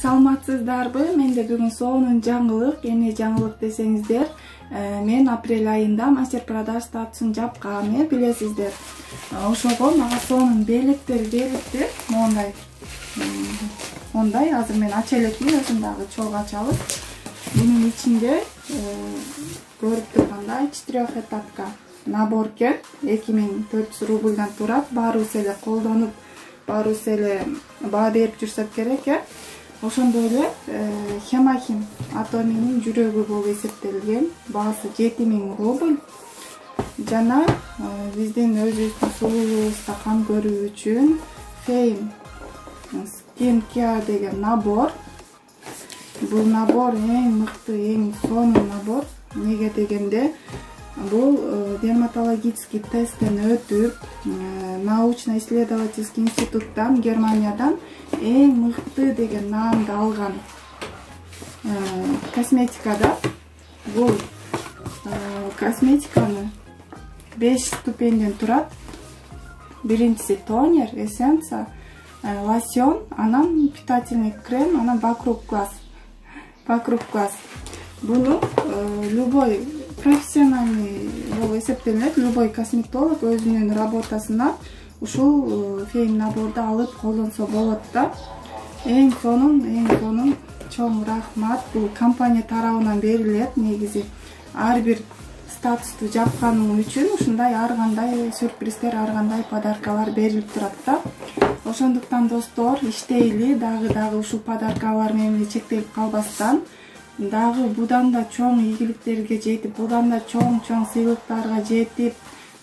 Саламатсыздарбы? Менде бүгүн сонун жаңылык, эмне жаңылык десеңиздер, мен апрель айында мастер-продаж статусун жапкам, билесиздер. Ошого мага сонун белектер берипти, мондай азыр мен ача элекмин, өзүм дагы чогуу ачалык. Бунун ичинде көрүп тургандай 4-этапка набор экен, 2400 рубльдан турат. Баарыбыз эле колдонуп, баарыбыз эле баа берип жүрсөк керек. Ошондой эле Хемахим Атоминин жүрөгү болуп эсептелген. Баасы 7000 рубль. Жана биздин өзүбүздүн сулуулугубузга кам көрүү үчүн Fame Skin Care деген набор. Бул набор эң мыкты, эң сонун набор. Неге дегенде, бул дерматологический тесттен өтүп, научно-исследовательский институттан, Германиядан эң мыкты деген наамды алган косметикада. Бул косметиканы 5 ступенден турат. Биринчиси тонер, эссенция, лосьон, анан питательный крем, анан вокруг глаз. Буну любой профессиональный болуп эсептелет, любой косметолог өзүнүн работасына ушул Fame наборду алып колдонсо болот да. Эң сонун чоң рахмат. Бул компания тарабынан берилет. Негизи ар бир статусту жапканым үчүн ушундай ар кандай сюрприздер, ар кандай подаркалар берилип турат да. Ошондуктан достор, иштейли, дагы ушул подаркалар менен чектелип калбастан, дагы будан да чоң ийгиликтерге жетип, будан да чоң сыйлыктарга жетип,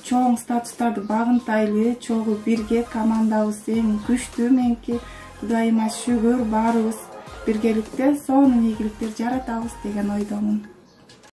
чоң статустарды багынтайлы, чогуу бирге командабыз эң күчтүү. Менки Кудайыма шүгүр, баарыбыз биргеликте сонун ийгиликтер жаратабыз деген ойдомун.